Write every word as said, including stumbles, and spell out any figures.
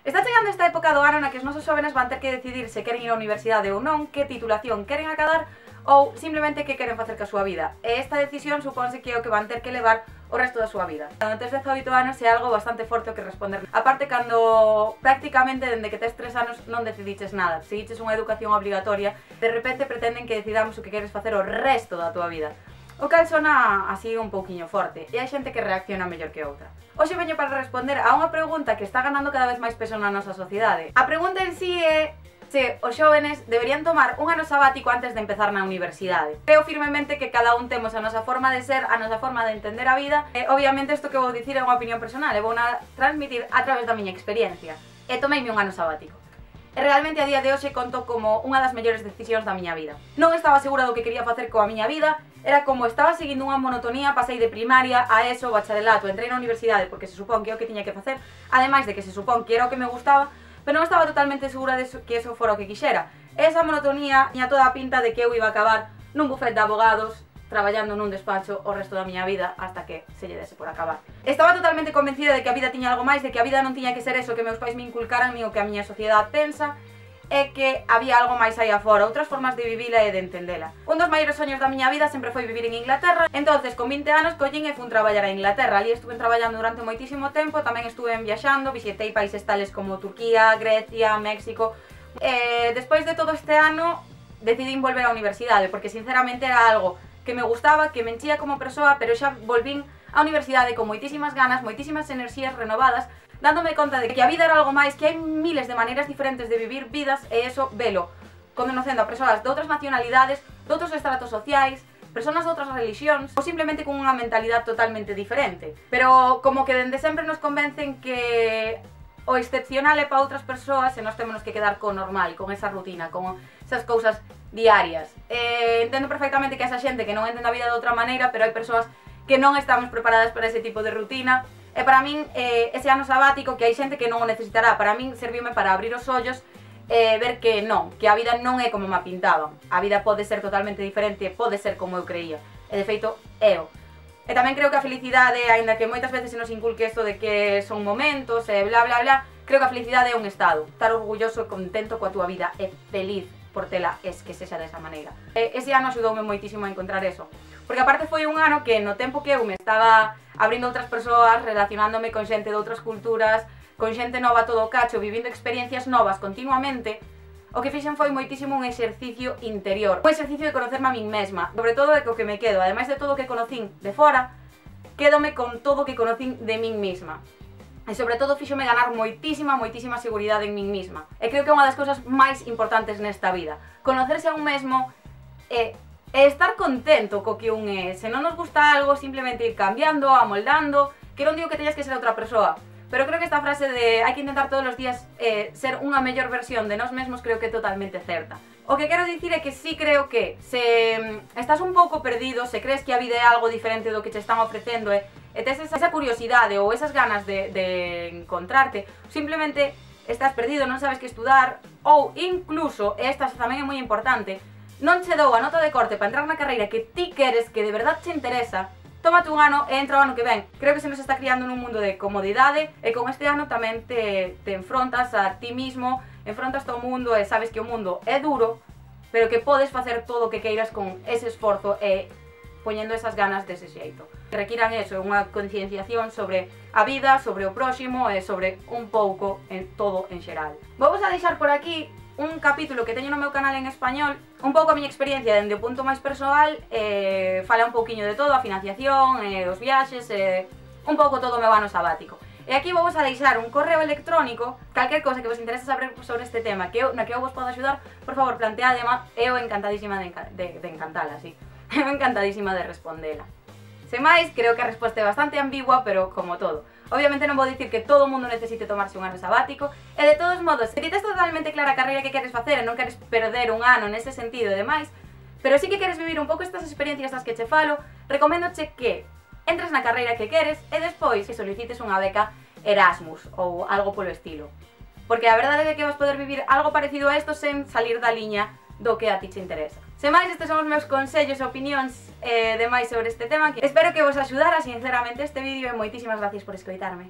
Está chegando esta época do ano na que os nosos xóvenes van ter que decidir se queren ir á universidade ou non, que titulación queren acadar ou simplemente que queren facer ca súa vida. E esta decisión supónse que é o que van ter que levar o resto da súa vida. Cando tes dezaoito anos é algo bastante forte o que responder. Aparte, cando prácticamente dende que tes tres anos non decidiches nada, seguiches unha educación obligatoria, de repente pretenden que decidamos o que queres facer o resto da túa vida. O cal sona así un pouquiño forte, e hai xente que reacciona mellor que outra. Hoxe veño para responder a unha pregunta que está ganando cada vez máis peso na nosa sociedade. A pregunta en sí é se os xóvenes deberían tomar un ano sabático antes de empezar na universidade. Creo firmemente que cada un temos a nosa forma de ser, a nosa forma de entender a vida, e obviamente isto que vou dicir é unha opinión personal, e vou na transmitir a través da miña experiencia. E tomeime un ano sabático. E realmente a día de hoxe conto como unha das mellores decisións da miña vida. Non estaba segura do que quería facer coa miña vida, era como estaba seguindo unha monotonía, pasei de primaria a eso, bacharelato, entrei na universidade porque se supón que é o que tiña que facer, ademais de que se supón que era o que me gustaba, pero non estaba totalmente segura de que eso fora o que quixera. Esa monotonía tiña toda a pinta de que eu iba a acabar nun bufet de abogados, traballando nun despacho o resto da miña vida hasta que se lle dese por acabar. Estaba totalmente convencida de que a vida tiña algo máis, de que a vida non tiña que ser eso que meus pais me inculcaran nin o que a miña sociedade pensa, e que había algo máis aí afora, outras formas de vivila e de entendela. Un dos maiores soños da miña vida sempre foi vivir en Inglaterra, entonces con vinte anos collín e fun traballar a Inglaterra. Ali estuve traballando durante moitísimo tempo, tamén estuve viaxando, visitei países tales como Turquía, Grecia, México. E despois de todo este ano decidín volver á universidade, porque sinceramente era algo que me gustaba, que me enchía como persoa, pero xa volvín á universidade con moitísimas ganas, moitísimas enerxías renovadas, dándome conta de que a vida era algo máis, que hai miles de maneiras diferentes de vivir vidas, e eso velo conocendo a persoas de outras nacionalidades, de outros estratos sociais, persoas de outras religións, ou simplemente con unha mentalidade totalmente diferente. Pero como que dende sempre nos convencen que o excepcional é para outras persoas e nós temos que quedar co normal, con esa rutina, con esas cousas diarias. Eh, entendo perfectamente que esa xente que non entende a vida de outra maneira, pero hai persoas que non estamos preparadas para ese tipo de rutina. E para min, eh, ese ano sabático, que hai xente que non o necesitará, para min serviume para abrir os ollos e eh, ver que non, que a vida non é como me pintaban. A vida pode ser totalmente diferente, pode ser como eu creía. E de feito, é o. E tamén creo que a felicidade, aínda que moitas veces se nos inculque isto de que son momentos e bla bla bla, creo que a felicidade é un estado. Estar orgulloso e contento coa túa vida e feliz por tela es que sexa desa maneira. E ese ano axudoume moitísimo a encontrar eso. Porque aparte foi un ano que no tempo que eu me estaba abrindo outras persoas, relacionándome con xente de outras culturas, con xente nova todo o cacho, vivindo experiencias novas continuamente, o que fixen foi moitísimo un exercicio interior, un exercicio de conocerme a min mesma, sobre todo de que o que me quedo, ademais de todo o que conocín de fora, quédome con todo o que conocín de min mesma. E sobre todo fíxome ganar moitísima, moitísima seguridade en min mesma. E creo que é unha das cousas máis importantes nesta vida. Conocerse a un mesmo e, e estar contento co que un é. Se non nos gusta algo, simplemente ir cambiando, amoldando, que non digo que teñas que ser outra persoa, pero creo que esta frase de hai que intentar todos os días eh, ser unha mellor versión de nós mesmos creo que é totalmente certa. O que quero dicir é que sí creo que se estás un pouco perdido, se crees que a vida é algo diferente do que te están ofrecendo e, e tes esa, esa curiosidade ou esas ganas de, de encontrarte, simplemente estás perdido, non sabes que estudar, ou incluso, e esta tamén é moi importante, non che dou a nota de corte para entrar na carreira que ti queres, que de verdad te interesa, tómate un ano e entra o ano que ven. Creo que se nos está criando nun mundo de comodidade e con este ano tamén te, te enfrontas a ti mismo, enfrontas ao mundo e sabes que o mundo é duro, pero que podes facer todo o que queiras con ese esforzo e poñendo esas ganas dese xeito. Que requiran eso, unha concienciación sobre a vida, sobre o próximo e sobre un pouco en todo en xeral. Vou a deixar por aquí un capítulo que teño no meu canal en español, un pouco a miña experiencia dende o punto máis persoal, eh, fala un pouquiño de todo, a financiación, eh, os viaxes, eh, un pouco todo o meu ano sabático. E aquí vou a deixar un correo electrónico, calquer cosa que vos interese saber sobre este tema, que eu, na que eu vos podo axudar, por favor, planteadema, eu encantadísima de, de, de encantala, sí. Eu encantadísima de respondela. Sen máis, creo que a resposta é bastante ambigua, pero como todo. Obviamente non vou dicir que todo o mundo necesite tomarse un ano sabático, e de todos modos, se ti tes totalmente clara a carreira que queres facer e non queres perder un ano nese sentido e demais, pero sí que queres vivir un pouco estas experiencias das que che falo, recoméndoche que entres na carreira que queres e despois que solicites unha beca Erasmus ou algo polo estilo. Porque a verdade é que vas poder vivir algo parecido a isto sen salir da liña do que a ti te interesa. Sen máis, estes son os meus consellos e opinións eh, demais sobre este tema, que espero que vos axudara sinceramente este vídeo e moitísimas gracias por escoitarme.